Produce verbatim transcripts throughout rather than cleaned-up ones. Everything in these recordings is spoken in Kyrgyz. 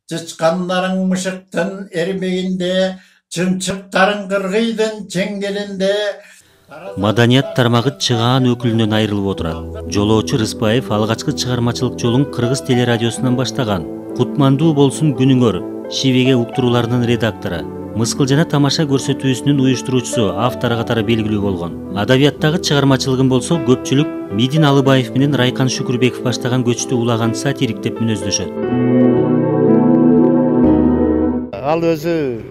Чычкандарың мышыктын эрмегинде, чымчыктарың кыргыйдын чеңгелинде. Маданият тармагы чыгаан өкүлүнөн айрылып отурат. Жолоочу Рыспаев алгачкы чыгармачылык жолун Кыргыз телерадиосунан баштаган. Кутмандуу болсун күнүңөр Шивеге уктурууларынын редактору, Мыскыл жана тамаша көрсөтүүсүнүн уюштуруучусу, автору катары белгилүү болгон. Адабияттагы чыгармачылыгын болсо көпчүлүк Мидин Алыбаев менен Райкан Шүкүрбеков баштаган көчтү улаган сатирик деп мүнөздөшөт. Ал өзү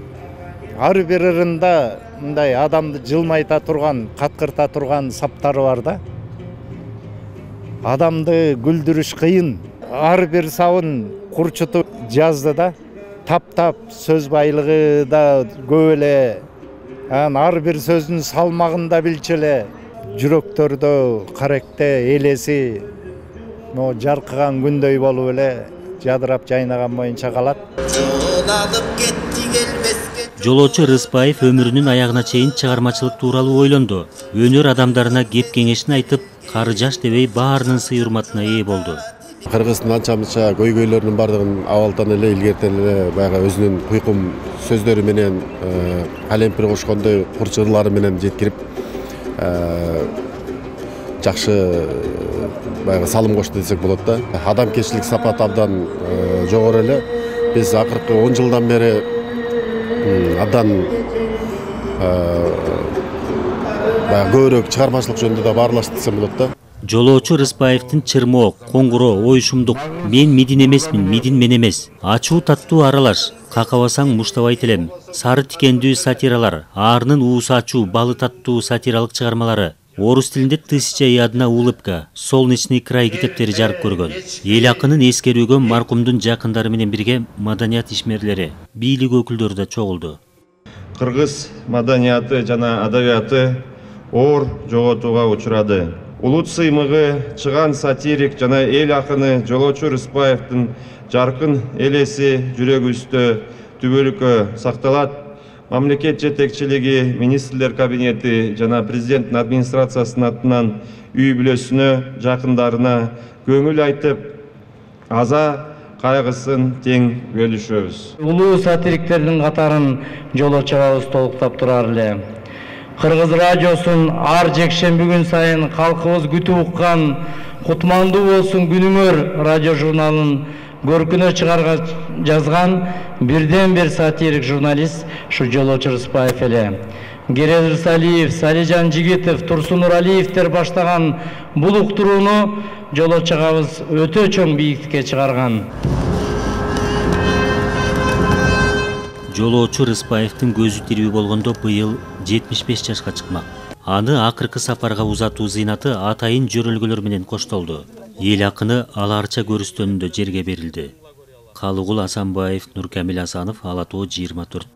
ар бир ырында мындай адамды жылмайта турган, каткырта турган саптары бар да. Адамды күлдүрүш кыйын. Ар бир сабын курчутуп жазды да. Таптап сөз байлыгы да көп эле. Ар бир сөздүн салмагын да билчү эле. Жүрөктөрдө каректе элеси но жаркыган күндөй болуп эле жадырап жайнаган боюнча калат. Жолоочу Рыспаев өмүрүнүн аягына чейин чыгармачылык тууралуу ойлонду. Өнөр адамдарына кеп кеңешин айтып, кары жаш дебей баарынын сый урматына ээ болду. Кыргыздын анча-мынча көйгөйлөрүнүн бардыгын абалдан эле илгертен эле баягы өзүнүн куйкум сөздөрү менен, калемпир кошкондой курч ырлары менен жеткирип, жакшы баягы салым кошту десек болот да. Адамкерчилик сапаты абдан жогору эле. Биз акыркы он жылдан бери абдан баягы көбүрөөк чыгармачылык жөнүндө да баарлаштык десем болот да. Жолоочу Рыспаевдин чырмоо, коңгуроо, оюшумдук, мен Мидин эмесмин, Мидин мен эмес, ачуу таттуу аралаш, какабасаң муштабайт элем, сары тикендүү сатиралар, аарынын уусу ачуу, балы таттуу сатиралык чыгармалары, орус тилинде «Тысяча и одна улыбка», «Солнечный край» китептери жарык көргөн. Эл акынын эскерүүгө маркумдун жакындары менен бирге маданият ишмерлери, бийлик өкүлдөрү да чогулду. Кыргыз маданияты жана адабияты оор жоготууга учурады. Улут сыймыгы чыган сатирик жана эл акыны Жолоочу Рыспаевдин жаркын элеси жүрөгүбүздө түбөлүккө сакталат. Мамлекет жетекчилиги, министрлер кабинети жана президенттин администрациясынын атынан үй бүлөсүнө, жакындарына көңүл айтып, аза кайгысын тең бөлүшөбүз. Улуу сатириктердин катарын жолоочубабыз толуктап турар эле. Кыргыз радиосун ар жекшемби күн сайын калкыбыз күтүп уккан «Кутмандуу болсун күнүңөр» радио журналын көркүнө чыгарга жазган бирден бир сатирик журналист ушу Жолоочу Рыспаев эле. Керез Рысалиев, Салижан Жигитов, Турсун Нуралиевдер баштаган бул уктурууну Жолоочу агабыз өтө чоң бийиктикке чыгарган. Жолоочу Рыспаевдин көзү тирүү болгондо быйыл жетимиш беш жашка чыкмак. Аны акыркы сапарга узатуу зыйнаты атайын жөрөлгөлөр менен коштолду. Эл акыны аларча көрүстөнүндө жерге берилди. Калыгул Асанбаев, Нуркамил Асанов, Ала Тоо жыйырма төрт.